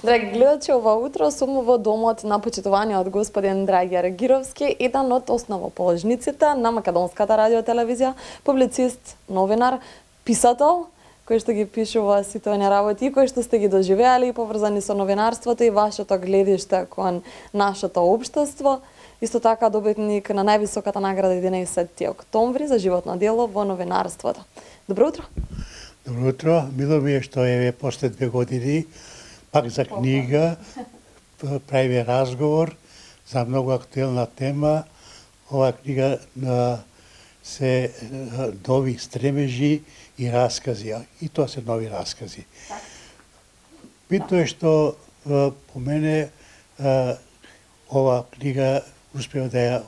Драги гледачи, ова утро сум во домот на почитуваниот господин Драги Аргировски, еден од основоположниците на Македонската радиотелевизија, публицист, новинар, писател, кој што ги пишува сите оние работи, кои што сте ги доживеали, поврзани со новинарството и вашето гледиште кон нашето општество. Исто така добитник на највисоката награда 11 октомври за животно дело во новинарството. Добро утро. Добро утро. Мило ми е што е после 2 години пак за книга правиме разговор за многу актуелна тема. Ова книга се нови стремежи и раскази, и тоа се нови раскази. Битно е што по мене ова книга успеа да ја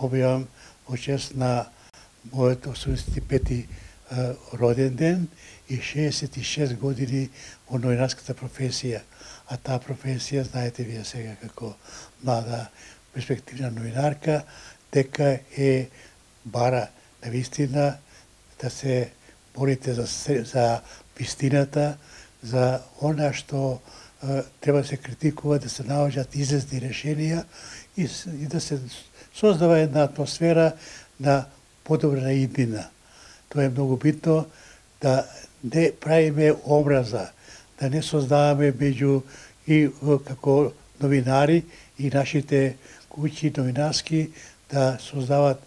објавам во чест на мојот 85-ти роден ден и 66 години во новинарската професија. А таа професија, знаете вие сега како млада перспективна новинарка, дека е бара на вистина да се борите за вистината, за она што треба да се критикува, да се наоѓаат излезни решенија и да се создава една атмосфера на подобра иднина. Тоа е многу битно, да не правиме образа, да не создаваме меѓу и како новинари и нашите куќи новинарски да создават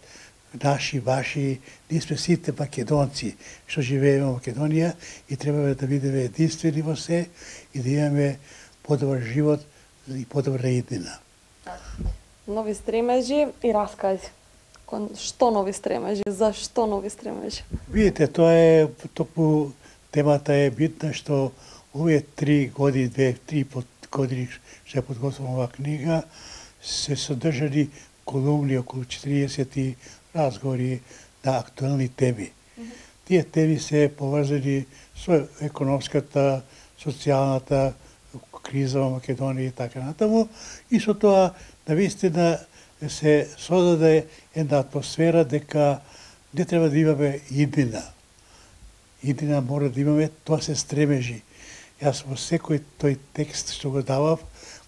наши, ваши, ние сме сите македонци што живееме во Македонија и треба да бидеме единствени во се и да имаме подобар живот и подобра иднина. Нови стремежи и раскази. Што нови стремежи? Зашто нови стремежи? Видите, тоа е токму темата е битна што овие 3 години, 2-3 години што ја подготвувам оваа книга се содржани колумни, околу 40 разговори на актуелни теми. Тие теми се поврзани со економската, социјалната криза во Македонија и така натаму и со тоа навистина се создаде една атмосфера дека не треба да имаме иднина. Иднина мора да имаме, тоа се стремежи. Јас во секој тој текст што го давав,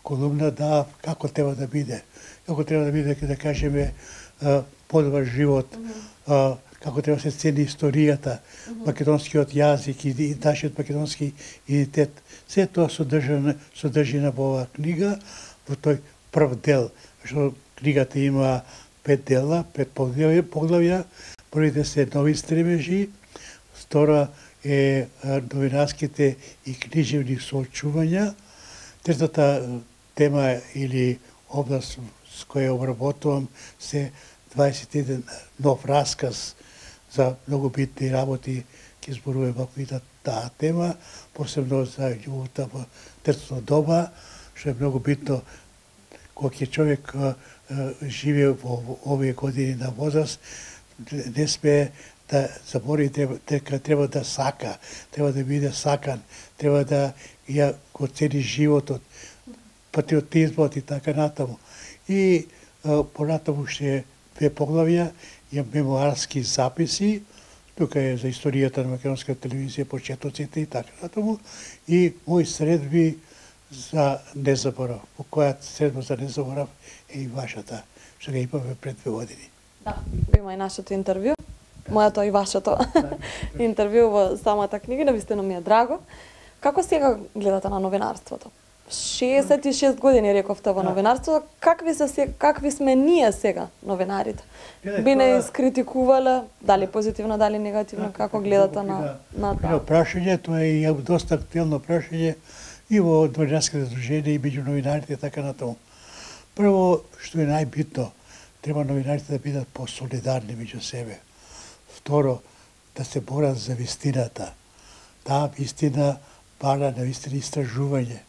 колумна давав како треба да биде. Како треба да биде, да кажеме, подобар живот, како треба да се цени историјата, македонскиот јазик и нашиот македонски идентитет. Се тоа содржина во оваа книга, во тој прв дел, што книгата има 5 дела, 5 поглавја. Првите се нови стремежи, втора е новинарските и книжевни соочувања. Третата тема или област с која обработувам се 21 нов расказ за многу битни работи ќе зборуваме во таа тема, посебно за љубовта во третото доба, што е многу битно кога човек живее во овие години на возраст, не смее да забори дека треба да сака, треба да биде сакан, треба да ја го цени животот, патриотизмот и така натаму. И понатаму ще 2 поглавја, ја мемуарски записи, тука е за историјата на македонската телевизија, почетоците и така натаму, и мои средби за незаборав. По која средба за незаборав е и вашата, што ga имаме пред 2 години. Да, има и нашето интервју, моето и вашето интервју во самата книга, навистина ми е драго. Како сега гледате на новинарството? 66 години рековте во новинарството, какви сме ние сега новинарите? Би не искритикувале, дали позитивно, дали негативно, како гледате на тоа? Прашање, тоа е доста актуелно прашање и во новинарските здруженија и меѓу новинарите и така натаму. Прво, што е најбитно, треба новинарите да бидат посолидарни меѓу себе. Второ, да се борат за вистината. Таа вистина бара на вистина истражување.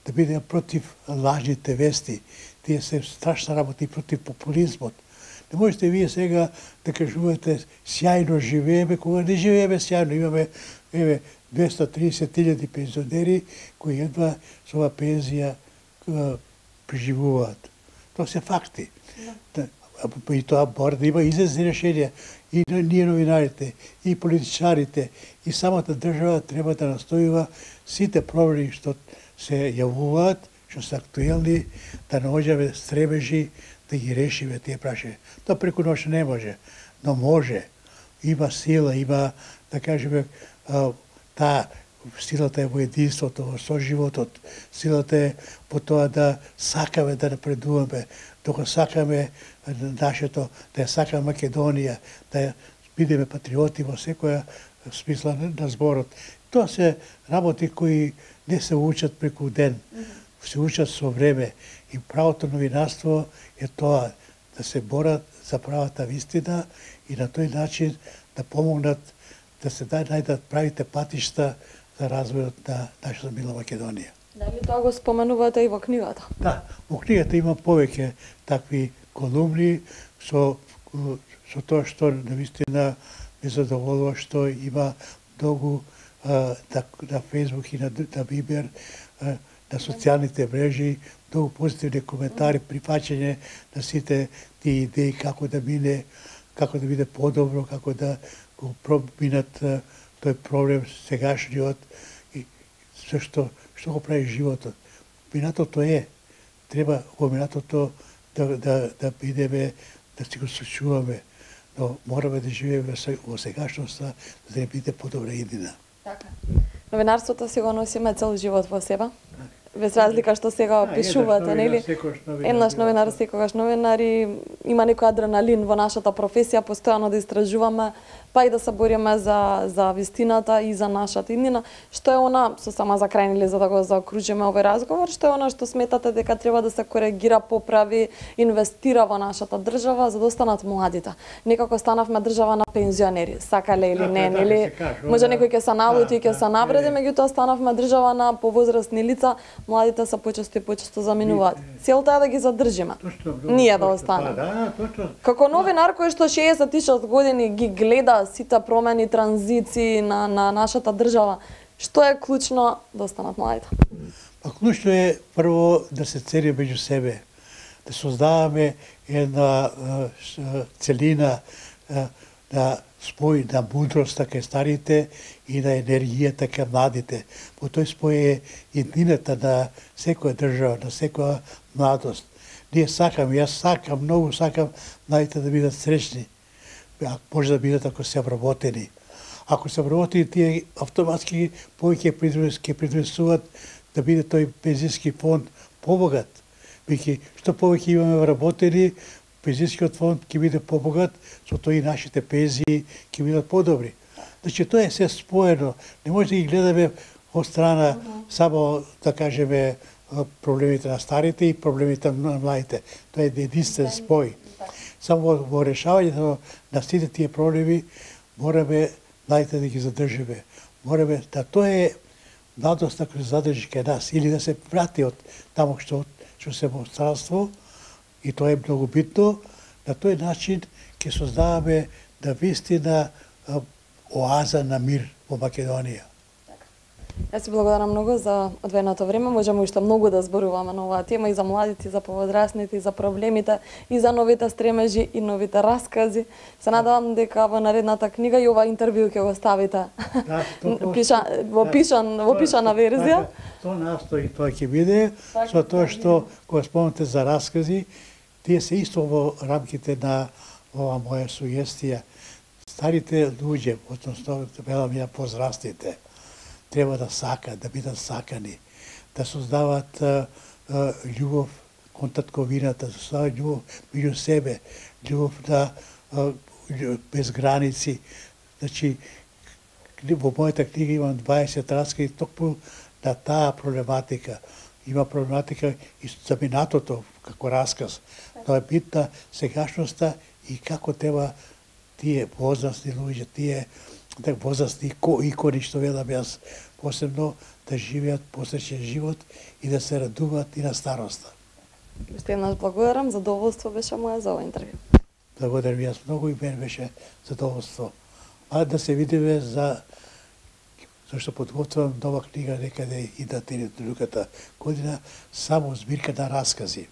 Да биде против лажните вести. Тие се страшна работа и против популизмот. Не можете вие сега да кажувате сјајно живееме, кога не живееме сјајно. Имаме 230.000 пензионери кои едва со ова пензија преживуваат. Тоа се факти. И тоа мора да има излезни решенија. И ние новинарите, и политичарите, и самата држава треба да настојува сите проблеми што се јавуваат, што се актуелни, да наоѓаме стребежи, да ги решиме тие прашања. Тоа преку ноќ не може, но може. Има сила, има, да кажеме, таа силата е во единството, во соживотот, силата е по тоа да сакаме да напредуваме, докато сакаме нашето, да ја сакаме Македонија, да бидеме патриоти во секоја смисла на зборот. Тоа се работи кои не се учат преку ден, се учат со време. И правото новинарство е тоа, да се борат за правата вистина и на тој начин да помогнат да се најдат правите патишта за развојот на нашата мила Македонија. Дали тоа го споменувате и во книгата? Да, во книгата има повеќе такви колумни со тоа што навистина ме задоволува што има многу на Facebook и на Вибер, на социјалните мрежи, многу позитивни коментари, прифаќање на сите тие идеи како да биде подобро, како да го проминат тој проблем сегашниот и се што го прави животот. Минатото треба во минатото да бидеме, да си го сочуваме, но мораме да живееме во сегашноста, за да не биде подобра иднина. Така. Новинарството си го носиме цел живот во себе. Без разлика што сега пишувате, нели? Еднаш новинар, секогаш новинар и има некој адреналин во нашата професија, постојано да истражуваме, па и да се бориме за вистината и за нашата иднина. Што е она, со сама за крај, нели, за да го заокружиме овој разговор, што е она што сметате дека треба да се коригира, поправи, инвестира во нашата држава за да останат младите? Некако станавме држава на пензионери, сакале или не, нели? Може некој ќе се налути, ќе се навреди, меѓутоа станавме држава на повозрастни лица, младите се почесто и почесто заминуваат. Целта е да ги задржиме. Ние да останеме. Како новинар кој што 66 години ги гледа сите промени, транзиции на нашата држава, што е клучно да останат младите? Па клучно е прво да се цели меѓу себе, да создаваме една целина на спој на мудроста кај старите и на енергијата кај младите. По тој спој е едината на секоја држава, на секоја младост. Ние сакаме, јас сакам, многу сакам младите да бидат среќни. Може да бидат ако се вработени. Ако се вработени, тие автоматски повеќе ќе придонесуваат да биде тој пензијски фонд побогат. Бидејќи што повеќе имаме вработени, пензијскиот фонд ќе биде побогат, со тоа и нашите пензии ќе бидат подобри. Значи тоа е се споено. Не може да ги гледаме од страна само да кажеме проблемите на старите и проблемите на младите. Тоа е единствен спој. Само во решавањето на сите тие проблеми мораме младите да ги задржиме. Мораме да тоа е младоста која се задржи кај нас или да се врати од таму што се во странство. И тоа е многу битно. На тој начин ќе создаваме да вистина оаза на мир во Македонија. Јас ти благодарам многу за одвоеното време. Можеме уште многу да зборуваме на оваа тема и за младите, и за повозрастните, и за проблемите, и за новите стремежи и новите раскази. Се надевам дека во наредната книга и ова интервју ќе го ставите во пишана верзија. Тоа настои, тоа ќе биде, со тоа што кога спомнате за раскази, тие се исто во рамките на ова моја сугестија. Старите луѓе, односно велам ја возрастните, треба да сакат, да бидат сакани, да создават љубов кон татковината, да создават љубов меѓу себе, љубов без граници. Значи, во мојата книга имам 20 раскази токму на таа проблематика. Има проблематика и за минатото како расказ. Тоа е битна сегашноста и како треба тие возрастни луѓе, тие возрастни икони што велам јас, посебно да живеат посреќен живот и да се радуваат и на староста. Уште еднаш благодарам, задоволство беше моја за овој интервју. Благодарам јас многу и мен беше задоволство. А да се видиме зашто подготвувам нова книга некаде и на другата година, само збирка на раскази.